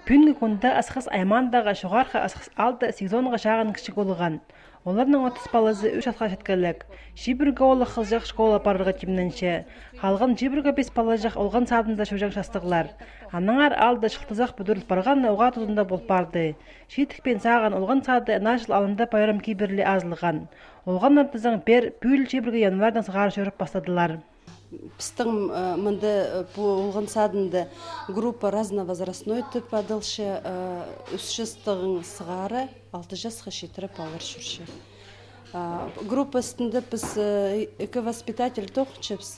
Бүгінгі күнде асқыс аймандағы жоғарғы асқыс алды сезонға шағын кішік болған. Оларның 30 баласы 3 жасқа жеткенлік. Жибірге олы қызжақ школа барырға темненше. Қалған жибірге 5 бала жақ олған садында шөжен шастығылар. Анаңар алды шылтызақ бүдіріліп барған оға тұзында болып барды. Шетікпен саған олған сады нажыл алында байрам кейбірлі азылған. Олған артызың бер бүл жибірге январдан сығары шөріп бастадылар. Пстың мынды болған садында группа разновозрастной тип адылшы үсшістігін сығары 6 жасқа шетіріп алыр жүрші. Группа үстінде біз екі воспитатель тоқчепс,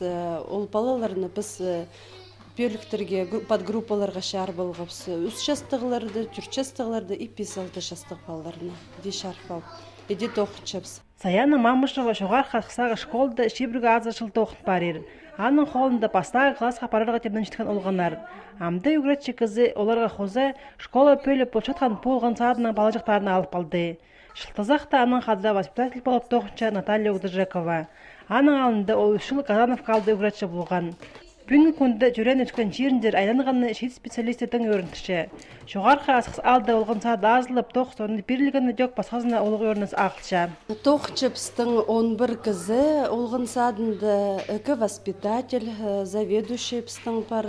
ол балаларыны біз бөліктерге подгруппаларға шар болғапс, үс жастығыларды, 4 жастығыларды и 5-6 жастық балаларыны де шарпал, еде тоқчепс. Саяна Мамышева жоғар қақсағы школды шебіргі азыршыл тоқын барыр. Аның қолында бастағы классқа парарға темнен жеткен олғанар. Амды үгіретші кізі оларға қозы школа пөліп болшатқан болған садының балажықтарына алып алды. Шылтызақта аның қадыда воспитатель болып тоқынша Наталья Удыржекова. Аның алында ол үшіл Казанов қалды үгіретші болған. Бүгінгі күнді жүрен өткен жеріндер айланғаны шет специалистердің өрінтіші. Жоғарғы асқыс алды олған сады азылып, тоқ соны берілгені жоқ басқазына олығы өрініз ақылша. Тоқ чепстің 11 кізі олған садында үкі воспитатель, заведующий пстың бар,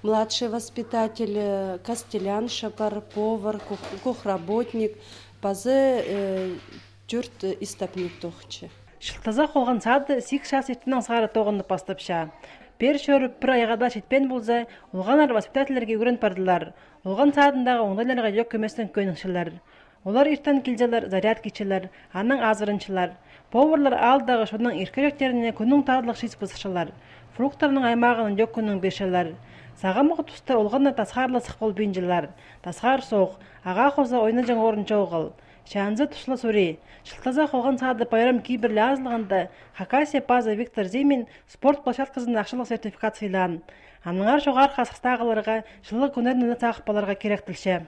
младший воспитатель, костелянша бар, повар, кухработник, базы жүрт истапник тоқчы. Шылтазақ олған сады 8 жас еттінің сағары тоғынды бастапша. Бер шөріп бір айғада шетпен болса, олғанар воспитательерге өрін бардылар. Олған садындағы оңдайларға жоқ көместің көнікшілер. Олар ертен келжелер, заряд кечелер, аның азырыншылар. Поварлар алдағы шоның еркеректеріне күнің тағылық шиз бұзықшылар. Фруктарының аймағының жоқ күнің бешелер. Сағамығы тұсты олғанна тасқарлы сық бол бейінжілер. Тасқар соқ, аға қоза ойны жаң орынша оғыл. Шанзы тұшылы сөре. Шылтазақ олған сады байрам кейбірлі азылғанда Хакасия база Виктор Зимин спорт площадкасында ақшылық сертификат сыйлан. Аныңар жоғар қасықтағыларға жылы күнеріне сақып баларға керек тілші.